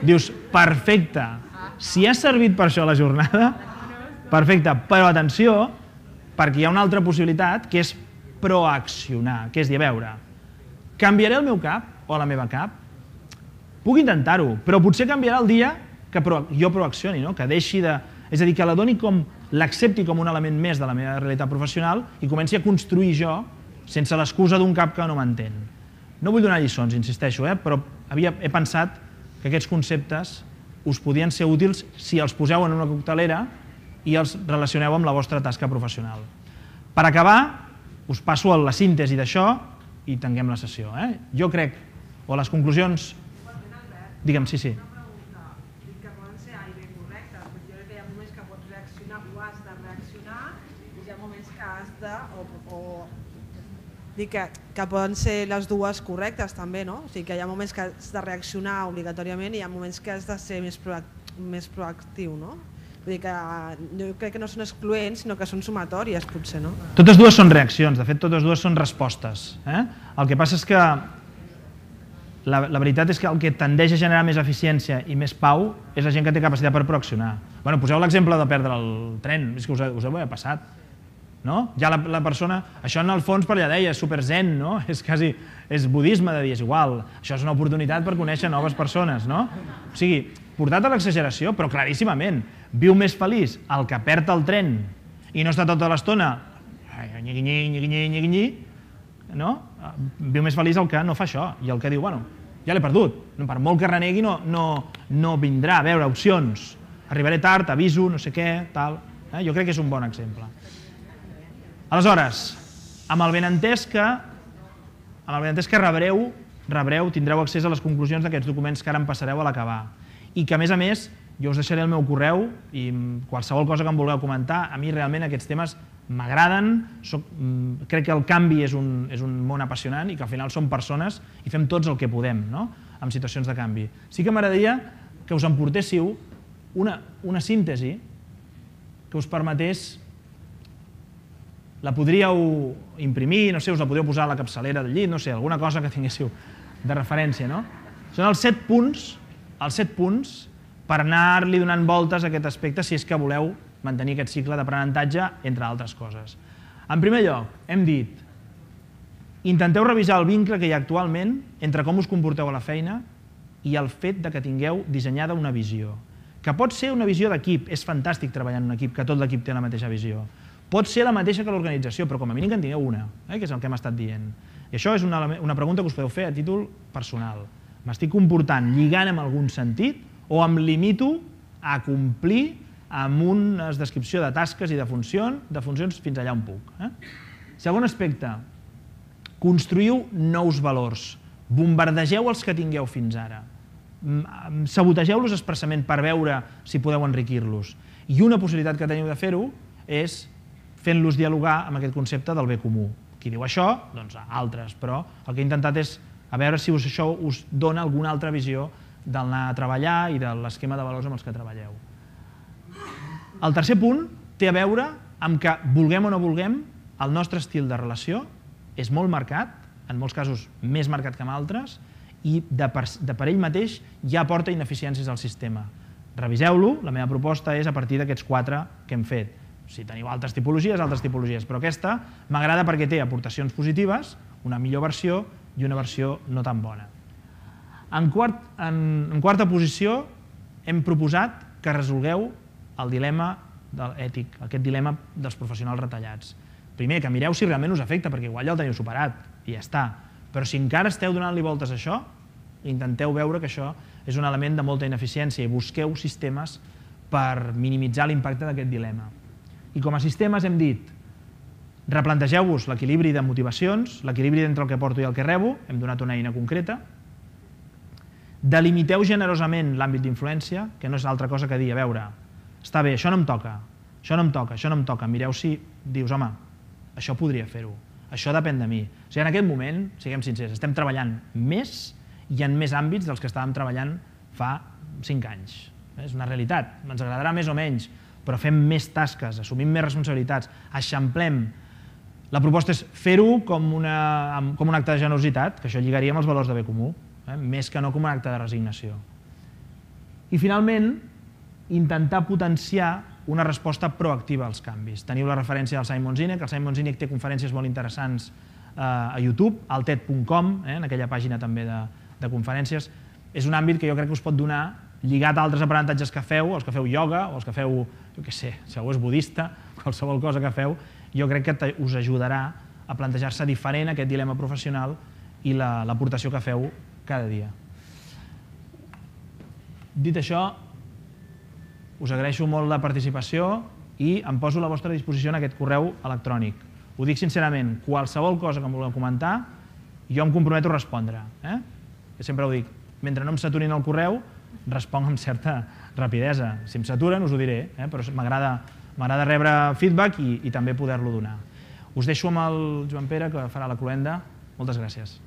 dius, perfecte, si ha servit per això la jornada, perfecte, però atenció, perquè hi ha una altra possibilitat, que és proaccionar, que és dir, a veure, canviaré el meu cap o la meva cap? Puc intentar-ho, però potser canviarà el dia que jo proaccioni, no? Que deixi de... És a dir, que la doni com, l'accepti com un element més de la meva realitat professional i comenci a construir jo sense l'excusa d'un cap que no m'entén. No vull donar lliçons, insisteixo, eh? Però havia, he pensat que aquests conceptes us podien ser útils si els poseu en una coctelera i els relacioneu amb la vostra tasca professional. Per acabar, us passo a la síntesi d'això i tanquem la sessió. Eh? Jo crec, o les conclusions... Digue'm, sí, sí. Una pregunta, dic que poden ser A i B correctes, perquè jo crec que hi ha moments que pots reaccionar o has de reaccionar i hi ha moments que has de... o, o... Dic que, que poden ser les dues correctes també, no? O sigui que hi ha moments que has de reaccionar obligatòriament i hi ha moments que has de ser més, proact més proactiu, no? Vull dir que jo crec que no són excloents, sinó que són sumatòries, potser, no? Totes dues són reaccions, de fet, totes dues són respostes. Eh? El que passa és que la, la veritat és que el que tendeix a generar més eficiència i més pau és la gent que té capacitat per proaccionar. Bueno, poseu l'exemple de perdre el tren, és que us, us ho he passat. No? Ja la, la persona, això en el fons per allà deia, és super zen, no? És quasi, és budisme de dir, és igual, això és una oportunitat per conèixer noves persones, no? O sigui, portat a l'exageració, però claríssimament, viu més feliç el que perd el tren i no està tota l'estona nyigui-nyi, nyigui-nyi, nyigui-nyi, no? Viu més feliç el que no fa això i el que diu, bueno, ja l'he perdut, per molt que renegui no, no, no vindrà, a veure, opcions, arribaré tard, aviso, no sé què, tal, eh? Jo crec que és un bon exemple. Aleshores, amb el benentès que, amb el benentès que rebreu, rebreu, tindreu accés a les conclusions d'aquests documents que ara em passareu a l'acabar. I que, a més a més, jo us deixaré el meu correu i qualsevol cosa que em vulgueu comentar, a mi realment aquests temes m'agraden, crec que el canvi és un, és un món apassionant i que al final som persones i fem tots el que podem, no? En situacions de canvi. Sí que m'agradaria que us emportéssiu una, una síntesi que us permetés, la podríeu imprimir, no sé, us la podríeu posar a la capçalera del llit, no sé, alguna cosa que tinguéssiu de referència, no? Són els set punts, els set punts per anar-li donant voltes a aquest aspecte si és que voleu mantenir aquest cicle d'aprenentatge, entre altres coses. En primer lloc, hem dit, intenteu revisar el vincle que hi ha actualment entre com us comporteu a la feina i el fet de que tingueu dissenyada una visió. Que pot ser una visió d'equip, és fantàstic treballar en un equip, que tot l'equip té la mateixa visió. Pot ser la mateixa que l'organització, però com a mínim que en tingueu una, eh, que és el que hem estat dient. I això és una, una pregunta que us podeu fer a títol personal. M'estic comportant lligant en algun sentit o em limito a complir amb una descripció de tasques i de funcions, de funcions fins allà on puc. Eh? Segon aspecte, construïu nous valors, bombardegeu els que tingueu fins ara, sabotegeu-los expressament per veure si podeu enriquir-los. I una possibilitat que teniu de fer-ho és fent-los dialogar amb aquest concepte del bé comú. Qui diu això? Doncs altres, però el que he intentat és a veure si això us dona alguna altra visió d'anar a treballar i de l'esquema de valors amb els que treballeu. El tercer punt té a veure amb que, vulguem o no vulguem, el nostre estil de relació és molt marcat, en molts casos més marcat que en altres, i de per, de per ell mateix ja aporta ineficiències al sistema. Reviseu-lo, la meva proposta és a partir d'aquests quatre que hem fet. Si teniu altres tipologies, altres tipologies, però aquesta m'agrada perquè té aportacions positives, una millor versió i una versió no tan bona. En, quart, en, en quarta posició hem proposat que resolgueu el dilema ètic, aquest dilema dels professionals retallats. Primer, que mireu si realment us afecta, perquè igual ja el teniu superat i ja està. Però si encara esteu donant-li voltes a això, intenteu veure que això és un element de molta ineficiència i busqueu sistemes per minimitzar l'impacte d'aquest dilema. I com a sistemes hem dit, replantegeu-vos l'equilibri de motivacions, l'equilibri entre el que porto i el que rebo, hem donat una eina concreta, delimiteu generosament l'àmbit d'influència, que no és altra cosa que dir, a veure, està bé, això no em toca, això no em toca, això no em toca, mireu si dius, home, això podria fer-ho, això depèn de mi. O sigui, en aquest moment, siguem sincers, estem treballant més i en més àmbits dels que estàvem treballant fa cinc anys. És una realitat, ens agradarà més o menys, però fem més tasques, assumim més responsabilitats, eixamplem. La proposta és fer-ho com, una, com un acte de generositat, que això lligaria amb els valors de bé comú, eh? Més que no com un acte de resignació. I finalment, intentar potenciar una resposta proactiva als canvis. Teniu la referència del Simon Sinek, el Simon Sinek té conferències molt interessants a YouTube, al ted punt com, en aquella pàgina també de, de conferències. És un àmbit que jo crec que us pot donar, lligat a altres aprenentatges que feu, els que feu ioga, o els que feu, jo què sé, si algú és budista, qualsevol cosa que feu, jo crec que us ajudarà a plantejar-se diferent aquest dilema professional i l'aportació que feu cada dia. Dit això, us agraeixo molt la participació i em poso a la vostra disposició en aquest correu electrònic. Ho dic sincerament, qualsevol cosa que em vulgueu comentar, jo em comprometo a respondre. Eh? Jo sempre ho dic, mentre no em saturin el correu, responc amb certa rapidesa. Si em saturen us ho diré, eh? Però m'agrada rebre feedback i, i també poder-lo donar. Us deixo amb el Joan Pere, que farà la cloenda. Moltes gràcies.